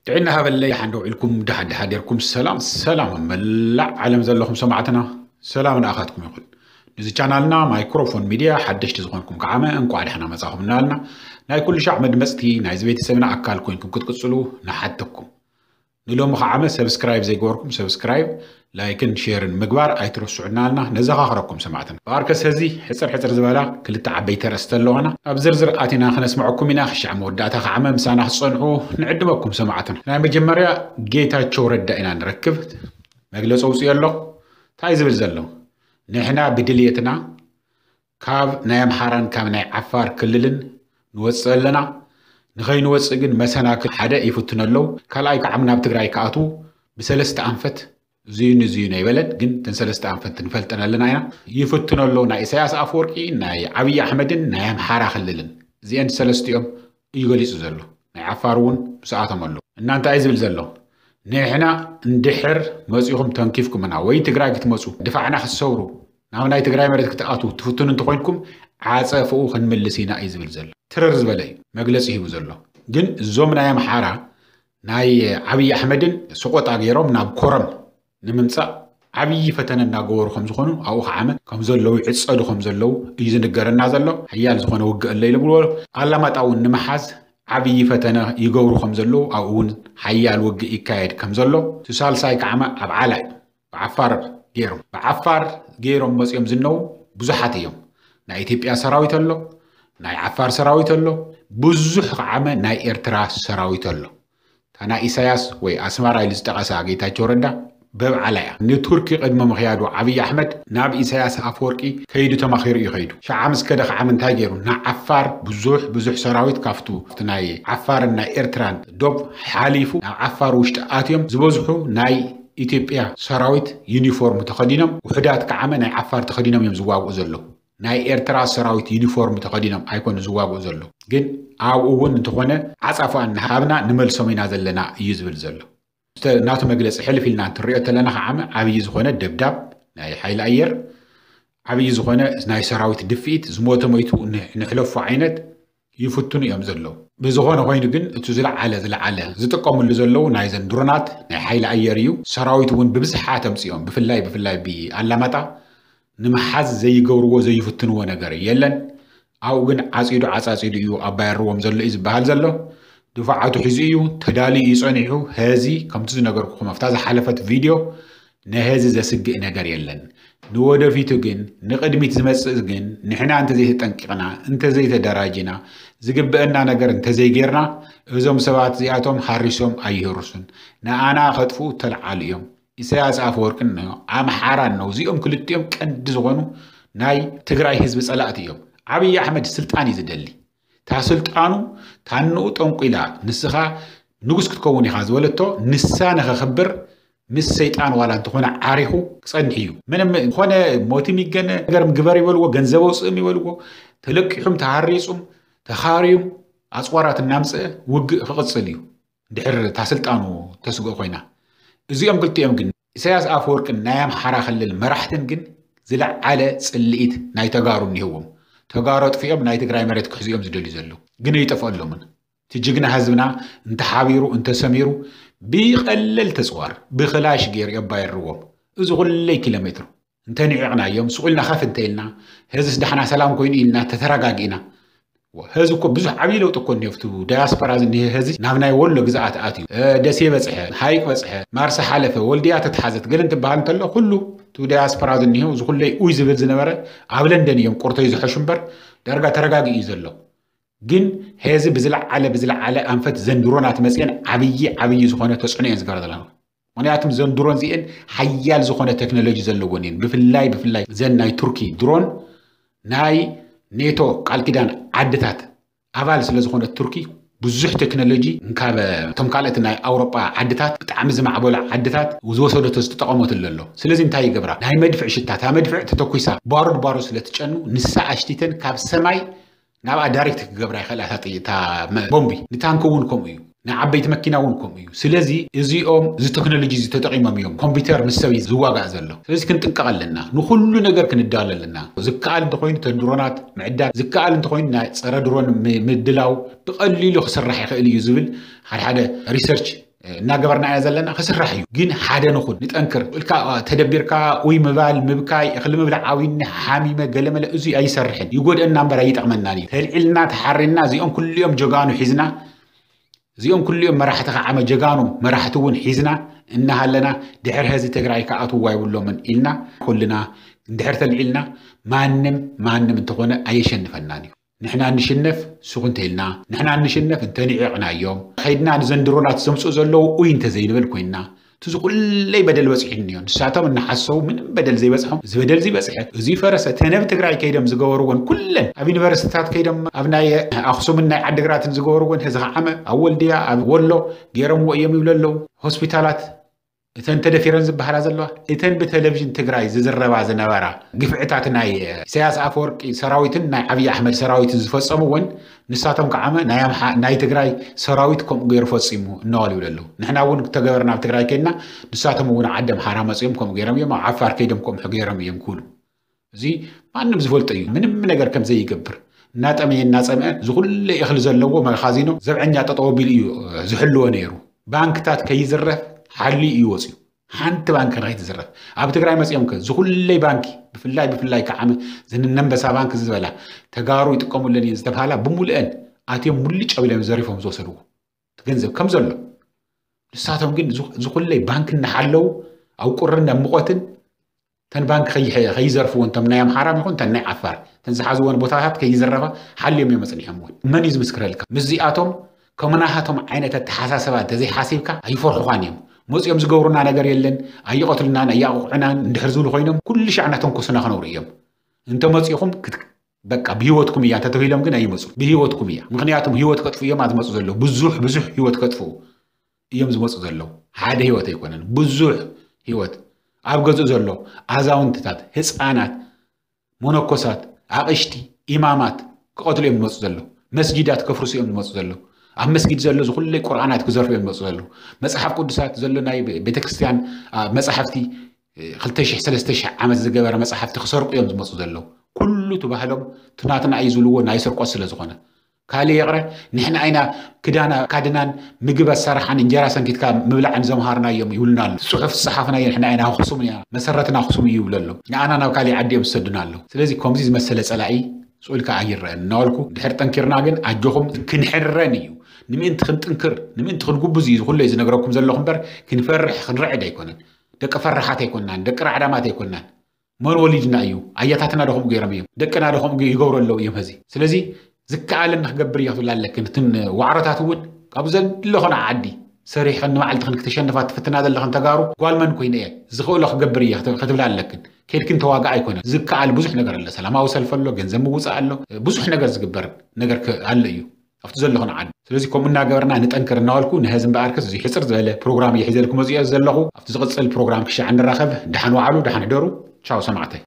ጥዕና ሃበለይ፣ ሓንደ ውዒልኩም፣ ደሓን ደሓን ዴርኩም? ሰላም ሰላም፣ ኣብ መላእ ዓለም ዘለኹም ሰማዕትና፣ ሰላም ንኣኻትኩም ይኹን። ንዚ ቻናልና ማይክሮፎን ሚድያ ሓደሽቲ ዝኾንኩም ከዓመ እንቋዕ ደሕና መጻኹም እናበልና፣ ናይ ኩሉ ሻዕ መድመጽቲ ናይዚ ቤተሰብና ኣካል ኮይንኩም ክትቅጽሉ ንሓተኩም። ንሎሚ ከዓመ ሰብስክራይብ ዘይገበርኩም ሰብስክራይብ፣ ላይክን ሼርን ምግባር ኣይትረስዑ እናበልና ነዘኻኽረኩም ሰማዕትና። ብኣርከስ ሕዚ ሕጽር ሕጽር ዝበላ ክልተ ዓበይቲ ኣርእስቲ ኣለዋና። ኣብ ዝርዝር ኣቲና ክነስምዐኩም ኢና። ክሻዕ መወዳእታ ከዓመ ምሳና ክትጸንሑ ንዕድመኩም ሰማዕትና። ናይ መጀመርያ ጌታቸው ረዳ ኢና ንረክብ። መግለጺ ኣውጺኡ ኣሎ። እንታይ ዝብል ዘሎ? ንሕና ብድልየትና ካብ ናይ ኣምሓራን ካብ ናይ ዓፋር ክልልን ንወጽእ ኣለና። ንኸይንወጽእ ግን መሰናክል ሓደ ይፍትኑ ኣለዉ። ካልኣይ ከዓም ናብ ትግራይ ክኣትዉ ብሰለስተ ኣንፈት እዙዩ ንዙዩ ናይ በለን፣ ግን እተን ሰለስተ ኣንፈት ንፈልጠን ኣለና ኢና። ይፍትኑ ኣለዉ ናይ ኢሳያስ ኣፈወርቂ፣ ናይ ዓብዪ ኣሕመድን ናይ ኣምሓራ ክልልን። እዚአን ሰለስቲኦም እዩ ገሊጹ ዘሎ። ናይ ዓፋር እውን ምስኣቶም ኣለዉ። እና እንታይ እዩ ዝብል ዘሎ? ንሕና እንድሕር መጺኹም ተንኪፍኩምና ወይ ትግራይ ክትመጹ ድፋዕና ክትሰብሩ ናብ ናይ ትግራይ መሬት ክትኣትዉ ትፍትኑ እንተኾይንኩም ዓጸፍኡ ክንምልስ ኢና እዩ ዝብል ዘሎ። ትርር ዝበለ እዩ መግለጺ ሂቡ ዘሎ። ግን እዞም ናይ ኣምሓራ ናይ ዓብዪ ኣሕመድን ሰቆጣ ገይሮም ናብ ኮረም ንምምጻእ ዓብዪ ፈተነ እናገበሩ ከም ዝኾኑ ኣብኡ ከዓመ ከም ዘለዉ ይዕጸዱ ከም ዘለዉ እዩ ዝንገረና ዘሎ። ሓያል ዝኾነ ውግእ ኣሎ ኢሉ ብሎ ኣላማጣ እውን ንምሓዝ ዓብዪ ፈተነ ይገብሩ ከም ዘለዉ ኣብኡ እውን ሓያል ውግእ ይካየድ ከም ዘሎ። እቲ ሳልሳይ ከዓመ ኣብ ዓላይ ብዓፋር ገይሮም ብዓፋር ገይሮም መፂኦም ዝነዉ ብዙሓት እዮም። ናይ ኢትዮጵያ ሰራዊት ኣሎ፣ ናይ ዓፋር ሰራዊት ኣሎ፣ ብዙሕ ከዓመ ናይ ኤርትራ ሰራዊት ኣሎ። እታ ናይ ኢሳያስ ወይ ኣስመራ ኢሉ ዝጠቐሳ ጌታቸው ረዳ በብዓላ እያ። ንቱርኪ ቅድሚ ምኽያዱ ዓብዪ ኣሕመድ ናብ ኢሳያስ ኣፈወርቂ ከይዱ ተማኺሩ እዩ ከይዱ። ሸዓ ምስ ከደ ከዓመ እንታይ ገይሩ? ንዓፋር ብዙሕ ብዙሕ ሰራዊት ካፍቱ ናይ ዓፋርን ናይ ኤርትራን ዶብ ሓሊፉ ናብ ዓፋር ውሽጢ ኣትዮም ዝበዝሑ ናይ ኢትዮጵያ ሰራዊት ዩኒፎርም ተኸዲኖም፣ ውሑዳት ከዓመ ናይ ዓፋር ተኸዲኖም እዮም ዝዋግኡ ዘለዉ። ናይ ኤርትራ ሰራዊት ዩኒፎርም ተኸዲኖም ኣይኮኑ ዝዋግኡ ዘለዉ። ግን ኣብኡ እውን እንተኾነ ዓጻፋ እናሃብና ንመልሶም ኢና ዘለና እዩ ዝብል ዘሎ። ናቱ መግለጺ ሕልፍ ኢልና እንትንሪኦ ተለና ከዓመ ዓብዪ ዝኾነ ደብዳብ ናይ ሓይሊ ኣየር፣ ዓብዪ ዝኾነ ናይ ሰራዊት ድፍኢት፣ ዝሞተ ሞይቱ ንሕለፎ ዓይነት ይፍትኑ እዮም ዘለዉ። ብዝኾነ ኮይኑ ግን እቲ ዝለዓለ ዝለዓለ ዝጥቀምሉ ዘለዉ ናይዘን ድሮናት ናይ ሓይሊ ኣየር እዩ። ሰራዊት እውን ብብዝሓ ተምፅኦም ብፍላይ ብፍላይ ብኣላማጣ ንምሓዝ ዘይገብርዎ ዘይፍትንዎ ነገር የለን። ኣብኡ ግን ዓፂዱ ዓፃፂዱ እዩ ኣባየርዎም ዘሎ እዩ ዝበሃል ዘሎ። ድፋዓቱ ሒዙ እዩ ተዳልዩ እዩ ፀኒሑ። ሕዚ ከምቲ ዝነገርኩኹም ኣብታ ዝሓለፈት ቪድዮ ንሕዚ ዘስግእ ነገር የለን። ንወደፊቱ ግን ንቕድሚት ዝመፅእ ግን ንሕና እንተዘይተጠንቂቕና እንተዘይተደራጅና ዝግበአና ነገር እንተዘይጌርና እዞም ሰባት እዚኣቶም ሃሪሶም ኣይህርሱን። ንኣና ከጥፍኡ ተለዓሉ እዮም። ኢሳያስ ኣፈወርቅን ኣምሓራን ነው። እዚኦም ክልቲኦም ቀንዲ ዝኾኑ ናይ ትግራይ ህዝቢ ጸላእቲ እዮም። ዓብዪ ኣሕመድ ስልጣን እዩ ዝደሊ። እታ ስልጣኑ ታንኡ ጠንቁላ ንስኻ ንጉስ ክትከውን ኢኻ ዝበለቶ ንሳ ንኸኽብር ምስ ሰይጣን ዋላ እንተኾነ ዓሪኹ ክጸንሕ እዩ። ምንም ዝኾነ ሞትም ይገነ ነገርም ግበር ይበልዎ፣ ገንዘብ ኣውፅእም ይበልዎ፣ ተለቂሑም ተሃሪፁም ተኻርዩም ኣፅዋራት እናምፅአ ውግእ ክቕፅል እዩ። ድሕር እታ ስልጣኑ ተስግኦ ኮይና። እዚኦም ክልቲኦም ግን ኢሳያስ ኣፈወርቅን ናይ ኣምሓራ ክልል መራሕትን ግን ዝለዓለ ጽልኢት ናይ ተጋሩ እኒህዎም። ተጋሩ ኣጥፊኦም ናይ ትግራይ መሬት ክሕዚኦም ዝደልዩ ዘለዉ ግን ኣይጠፍኣሎምን። እቲ ጅግና ህዝብና እንተሓቢሩ እንተሰሚሩ ብቐለል ተፅዋር ብክላሽ ገይሩ የባየርዎም። እዚ ኩለይ ኪሎ ሜትሩ እንተኒዒቕናዮም ስቑልና ከፍ እንተኢልና ህዝስ ዳሕና ሰላም ኮይኑ ኢልና ተተረጋጊእና። ህዚ እኮ ብዙሕ ዓብዪ ለውጢ እኮ እኒኦ። ኣብቲ ዳያስፖራ ዝኒሀ ህዚ ናብ ናይ ወሎ ግዝኣት ኣትዩ፣ ደሴ በፅሐ፣ ሃይቅ በፅሐ፣ ማርሳ ሓለፈ፣ ወልድያ ተትሓዘት ገለ እንትበሃል እንተሎ ኩሉ እቲ ዳያስፖራ ዝኒሀ እዚ ኩለይ ኡይ ዝብል ዝነበረ ኣብ ለንደን እዮም ቁርተይ ዝሐሹ እምበር ዳርጋ ተረጋጊኡ እዩ ዘሎ። ግን ህዚ ብዝለዓለ ብዝለዓለ ኣንፈት ዘን ድሮናት መፅአን ዓብዪ ዓብዪ ዝኾነ ተፅዕኖ እየን ዝገብራ ዘለዋ። ምክንያቱም ዘን ድሮን እዚአን ሓያል ዝኾነ ቴክኖሎጂ ዘለወን እየን። ብፍላይ ብፍላይ ዘን ናይ ቱርኪ ድሮን ናይ ኔቶ ቃል ኪዳን ዓድታት ኣባል ስለ ዝኾነት ቱርኪ ብዙሕ ቴክኖሎጂ ካብ እቶም ካልኦት ናይ ኣውሮጳ ዓድታት ብጣዕሚ ዝማዕበሉ ዓድታት ዝወሰደቶ ዝተጠቐመትሉ ኣሎ። ስለዚ እንታይ ይገብራ? ናይ መድፍዕ ሽታ፣ እታ መድፍዕ ተተኩሳ ባሩድ ባሩድ ስለ ትጨኑ ንሳ ኣሽቲተን ካብ ሰማይ ናብኣ ዳይሬክት ክገብራ ይኽእላ እታ ጥይ- እታ መ- ቦምቢ። ንታንክ እውን ከምኡ እዩ፣ ንዓበይቲ መኪና እውን ከምኡ እዩ። ስለዚ እዚኦም እዚ ቴክኖሎጂ እዚ ተጠቒሞም እዮም ኮምፒውተር ምስ ሰብ ዝዋጋእ ዘሎ። ስለዚ ክንጥንቀቕ ኣለና፣ ንኩሉ ነገር ክንዳሎ ኣለና። ዝከኣል እንተኮይኑ ተን ድሮናት ምዕዳል፣ ዝከኣል እንተኮይኑ ናይ ፀረ ድሮን ም- ምድላው ብቐሊሉ ክስራሕ ይኽእል እዩ ዝብል ሓደ ሓደ ሪሰርች እናገበርና ኢና ዘለና። ክስራሕ እዩ፣ ግን ሓደ ንኹን፣ ንጠንክር። ኢልካ ተደቢርካ ውይ ምባል፣ ምብካይ፣ እኽሊ ምብላዕ፣ ዓዊኒ ሓሚመ ገለመለ፣ እዚ ኣይሰርሕን፣ ይጎድአና እምበር ኣይጠቕመናን እዩ። ተልዒልና ተሓሪና እዚኦም ኩልኦም ጀጋኑ ሒዝና፣ እዚኦም ኩልኦም መራሕቲ ከዓመ ጀጋኑ መራሕቲ እውን ሒዝና እናሃለና፣ ድሕሪ ሀዚ ትግራይ ክኣትውዋ ይብሎምን ኢልና፣ ኩልና እንድሕር ተልዒልና፣ ማንም ማንም እንተኾነ ኣየሸንፈናን እዩ። ንሕና እንሽነፍ ሱቕ እንተኢልና፣ ንሕና እንሽነፍ እንተንዒቕናዮም፣ ከይድና ንዘን ድሮናት ዘምፅኡ ዘለዉ ኡይ እንተዘይንብል ኮይንና፣ እቲ ዝኹለይ በደል በፂሑኒ እዩ። ንሳቶም እናሓሰቡ ምንም በደል ዘይበፅሖም፣ እዚ በደል እዚ በፅሐ፣ እዚ ፈረሰ፣ ተነብ ትግራይ ከይዶም ዝገበርዎን ኩለን ኣብ ዩኒቨርሲቲታት ከይዶም ኣብ ናይ ኣኽሱምን ናይ ዓድግራትን ዝገበርዎን፣ ሕዚ ከዓመ ኣብ ወልድያ፣ ኣብ ወሎ ገይሮምዎ እዮም ይብሉ ኣለዉ። ሆስፒታላት እተን ተደፊረን ዝበሃላ ዘለዋ፣ እተን ብቴሌቪዥን ትግራይ ዝዝረባ ዝነበራ ግፍዕታት ናይ ኢሳያስ ኣፈወርቂ ሰራዊትን ናይ ዓብዪ ኣሕመድ ሰራዊትን ዝፈጸምዎን፣ ንሳቶም ከዓመ ናይ ኣምሓ-፣ ናይ ትግራይ ሰራዊት ከምኡ ገይሩ ፈጺሙ እናበሉ ይብሉ ኣለዉ። ንሕና እውን ተገበርና ኣብ ትግራይ ከይድና፣ ንሳቶም እውን ዓዲ ኣምሓራ መጺኦም ከምኡ ገይሮም እዮም፣ ኣብ ዓፋር ከይዶም ከምኡ ገይሮም እዮም ክብሉ። እዚ ማንም ዝፈልጦ እዩ። ምንም ነገር ከም ዘይገብር፣ እናጠመየ እናጸምአ፣ ዝኹለ እኽሊ ዘለዎ መኻዚኖ ዘብዐኛ ጠጠው ኣቢሉ እዩ ዝሕልዎ ነይሩ። ባንክታት ከይዝረፍ ሓልዩ እዩ ወፅዩ። ሓንቲ ባንክ ንኸይትዝረፍ። ኣብ ትግራይ መፂኦም ከ ዝኹለይ ባንኪ፣ ብፍላይ ብፍላይ ከዓመ ዝንነንበሳ ባንክ ዝበላ፣ ተጋሩ ይጥቀሙለን እየን ዝተብሃላ፣ ብምሉአን ኣትዮም ሙልጭ ኣቢሎም ዘሪፎም ዝወሰድዎ፣ እቲ ገንዘብ ከም ዘሎ። ንሳቶም ግን ዝኹ-፣ ዝኹለይ ባንክ እናሓለዉ፣ ኣብ ቁርን ኣብ ሙቐትን፣ ተን ባንክ ከይ-፣ ከይዘርፍዎ፣ እንቶም ናይ ኣምሓራ ይኹን ተን ናይ ዓፋር፣ ተን ዝሓዝወን ቦታታት ከይዘረፋ ሓልዮም እዮም ኣፅኒሖምዎ። መን እዩ ዝምስክረልካ? ምስዚኣቶም ከምናሃቶም ዓይነት ኣተሓሳሰባ እንተዘይሓሲብካ ኣይፈርሑኻን እዮም። መፂኦም ዝገብሩና ነገር የለን፣ ኣይቐትሉናን፣ ኣያቕቑዑናን እንድሕር ዝብሉ ኮይኖም፣ ኩሉ ሻዕ እናተንኮሱና ክነብሩ እዮም። እንተመፂኹም ክት-፣ በቃ ብህይወትኩም እያ እንተተባሂሎም ግን ኣይመፁ። ብህይወትኩም እያ። ምኽንያቱም ህይወት ከጥፉ እዮም ዝመፁ ዘለዉ። ብዙሕ፣ ብዙሕ ህይወት ከጥፍኡ እዮም ዝመፁ ዘለዉ። ሓደ ህይወት ኣይኮነን፣ ብዙሕ ህይወት። ኣብ ገዝኡ ዘሎ ኣዛውንትታት፣ ህፃናት፣ መነኮሳት፣ ኣቕሽቲ፣ ኢማማት ክቐትሉ እዮም ዝመፁ ዘለዉ። መስጊዳት ከፍርሱ እዮም ዝመፁ ዘለዉ። ኣብ መስጊድ ዘሎ ዝኹለይ ቁርኣናት ክዘርፉ እዮም ዝመፁ ዘለዉ። መፅሓፍ ቅዱሳት ዘሎ ናይ ቤተክርስትያን፣ አ፣ መፃሕፍቲ፣ እ፣ ክልተ ሺሕ ሰለስተ ሺሕ ዓመት ዝገበረ መፃሕፍቲ ክሰርቁ እዮም ዝመፁ ዘለዉ። ኩሉ እቲ ባህሎም እቲ ናትና እዩ ዝብልዎ ናይ ስርቆት ስለ ዝኾነ። ካልእ ይቕረ፣ ንሕና ኢና ክዳን ኣካድናን ምግቢ ኣሰራሓን እንጀራ ሰንኪትካ ምብላዕን ዘምሃርናዮም ይብሉና ኣለዉ። ጽሑፍ ዝጸሓፍናዮ ንሕና ኢና፣ ኣኽሱም እያ፣ መሰረትና ኣኽሱም እዩ ይብሉ ኣለዉ። ንኣና ናብ ካሊእ ዓዲ እዮም ዝሰዱና ኣለዉ። ስለዚ ከምዚ ዝመሰለ ጸላኢ ስቕ ኢልካ ኣይረኣን እናበልኩ፣ ድሕር ጠንኪርና ግን ኣጆኹም ክንሕረን እዩ። ንምእንቲ ክንጥንክር፣ ንምእንቲ ክንጉብዝ እዩ ዝኹለይ ዝነግረኩም ዘለኹ እምበር፣ ክንፈርሕ ክንርዕድ ኣይኮነን። ደቂ ፈራሓት ኣይኮናን፣ ደቂ ራዕዳማት ኣይኮናን። መን ወሊድና እዩ? ኣያታትና ዶ ከምኡ ገይሮም እዮም? ደቅና ዶ ከምኡ ይገብሩ ኣለዉ እዮም? ሕዚ ስለዚ ዝከኣለኒ ክገብር እየ ክትብል ኣለክን። እትን ዋዕሮታት እውን ካብ ዘለኾና ዓዲ ሰሪሕን ንባዕልትኽን ክተሸንፋ ትፍትና ዘለኽን ተጋሩ ጓል መን ኮይነ እየ ዝኽእሎ ክገብር እየ ክት-፣ ክትብል ኣለክን። ከድክን ተዋጋ ኣይኮነን። ዝከኣል ብዙሕ ነገር ኣሎ። ሰላማዊ ሰልፊ ኣሎ፣ ገንዘብ ምውፃእ ኣሎ፣ ብዙሕ ነገር ዝግበር ነገር ክ-፣ ኣሎ እዩ ኣብቲ ዘለኹን ዓዲ። ስለዚ ከምኡ እናገበርና ንጠንክር እናበልኩ ንሕዚ እምበኣርከስ እዚ ሕፅር ዝበለ ፕሮግራም እየ ሒዘልኩም መፅኦ ዘለኹ። ኣብቲ ዝቕፅል ፕሮግራም ክሻዕ ንራኸብ። ደሓን ዋዕሉ፣ ደሓን ሕደሩ። ቻው ሰማዕተይ።